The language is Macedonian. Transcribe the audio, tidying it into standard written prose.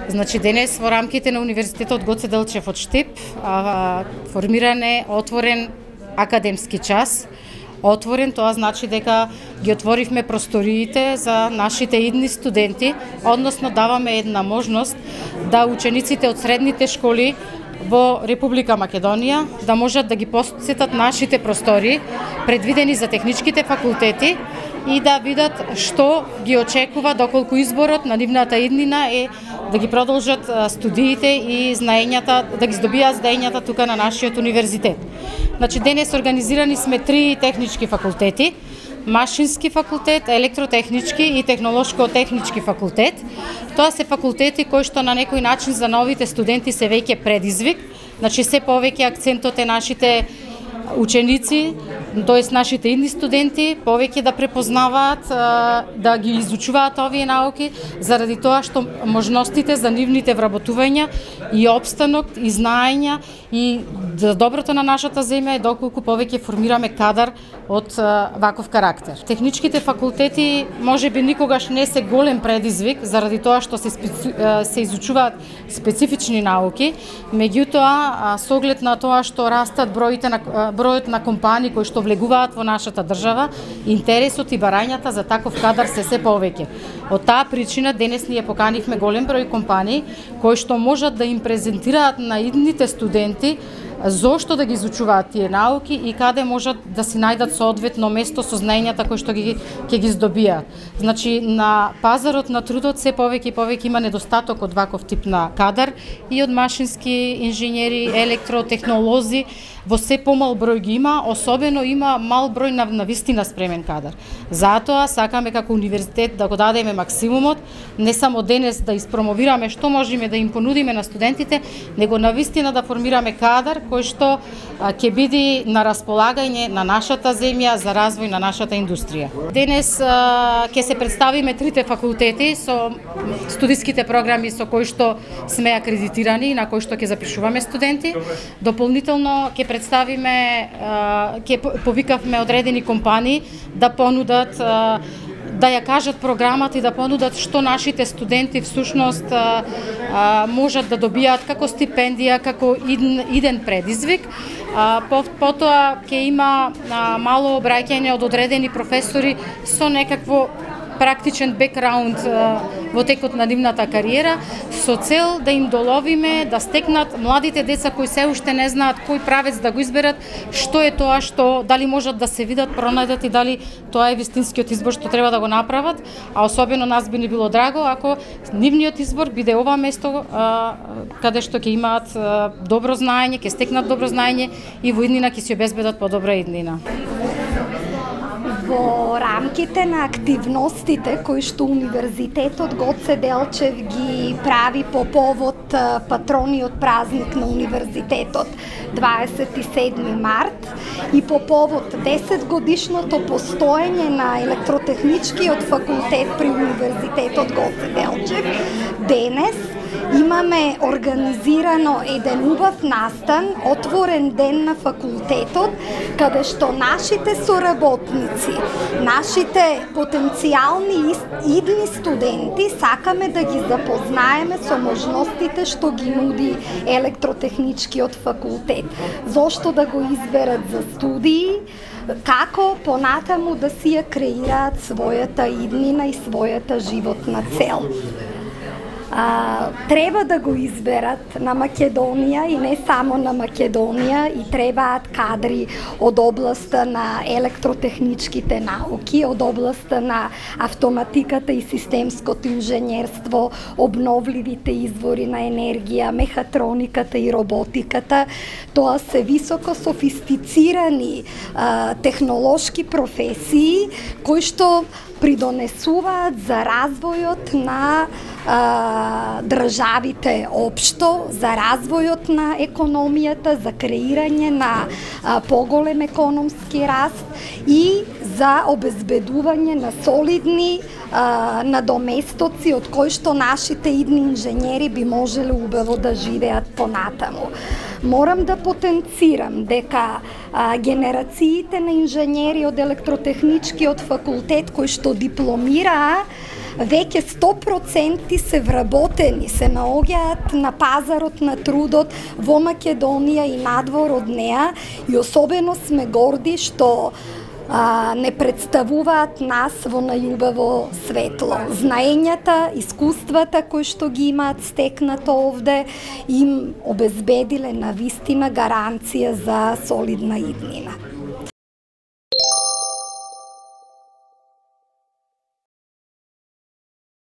Значи денес во рамките на Универзитетот Гоце Делчев од Штип формиран е отворен академски час. Отворен, тоа значи дека ги отворивме просториите за нашите идни студенти, односно даваме една можност да учениците од средните школи во Република Македонија да можат да ги посетат нашите простори, предвидени за техничките факултети, и да видат што ги очекува доколку изборот на нивната иднина е да ги продолжат студиите и знаењата, да ги здобијат знаењата тука на нашиот универзитет. Значи денес организирани сме 3 технички факултети: Машински факултет, Електротехнички и Технолошко-технички факултет. Тоа се факултети кои што на некој начин за новите студенти се веќе предизвик. Значи се повеќе акцентот е нашите ученици, тоест нашите идни студенти, повеќе да препознаваат, да ги изучуваат овие науки, заради тоа што можностите за нивните вработувања и опстанок и знаења и за доброто на нашата земја е доколку повеќе формираме кадар од ваков карактер. Техничките факултети можеби никогаш не се голем предизвик заради тоа што се изучуваат специфични науки, меѓутоа со оглед на тоа што растат бројот на компании кои што влегуваат во нашата држава, интересот и барањата за таков кадар се повеќе. Од таа причина денес ние поканивме голем број компании кои што можат да им презентираат на идните студенти зошто да ги изучуваат тие науки и каде можат да си најдат соодветно место со знаењата кои што ќе ги здобијат. Значи на пазарот на трудот се повеќе и повеќе има недостаток од ваков тип на кадар и од машински инженери, електротехнолози, во се помал број ги има, особено има мал број на вистина спремен кадар. Затоа сакаме како универзитет да го дадеме максимумот, не само денес да испромовираме што можеме да им понудиме на студентите, него на вистина да формираме кадар кој што ќе биде на располагање на нашата земја за развој на нашата индустрија. Денес ќе се представиме 3 факултети со студиските програми со кои што сме акредитирани и на кои што ќе запишуваме студенти. Дополнително ќе представиме, ќе повикавме одредени компании да понудат, да ја кажат програмата и да понудат што нашите студенти всушност можат да добијат како стипендија, како иден предизвик. Потоа ќе има мало обраќање од одредени професори со некакво практичен бекграунд во текот на нивната кариера, со цел да им доловиме да стекнат младите деца кои се уште не знаат кој правец да го изберат, што е тоа што дали можат да се видат, пронајдат и дали тоа е вистинскиот избор што треба да го направат, а особено нас би ни било драго ако нивниот избор биде ова место каде што ќе имаат добро знаење, ќе стекнат добро знаење и во иднина ќе си обезбедат подобра иднина. Во рамките на активностите кои што Универзитетот Гоце Делчев ги прави по повод патрониот празник на Универзитетот 27 март и по повод 10 годишното постоење на Електротехничкиот факултет при Универзитетот Гоце Делчев, денес имаме организирано еден убав настан, отворен ден на факултетот, каде што нашите соработници, нашите потенцијални идни студенти сакаме да ги запознаеме со можностите што ги нуди Електротехничкиот факултет. Зошто да го изберат за студии, како понатаму да си ја креираат својата иднина и својата животна цел. Треба да го изберат на Македонија и не само на Македонија, и требаат кадри од областа на електротехничките науки, од областа на автоматиката и системското инженерство, обновливите извори на енергија, мехатрониката и роботиката. Тоа се високо софистицирани технолошки професии кои што придонесуваат за развојот на државите општо, за развојот на економијата, за креирање на поголем економски раст и за обезбедување на солидни надоместоци од кои што нашите идни инженери би можеле убаво да живеат понатаму. Морам да потенцирам дека генерациите на инженери од Електротехничкиот факултет кои што дипломираа веќе 100% се вработени, се наоѓаат на пазарот на трудот во Македонија и надвор од неа, и особено сме горди што не представуваат нас во најубаво светло. Знаењата, искуствата кои што ги имаат стекнато овде им обезбедиле на вистина гаранција за солидна иднина.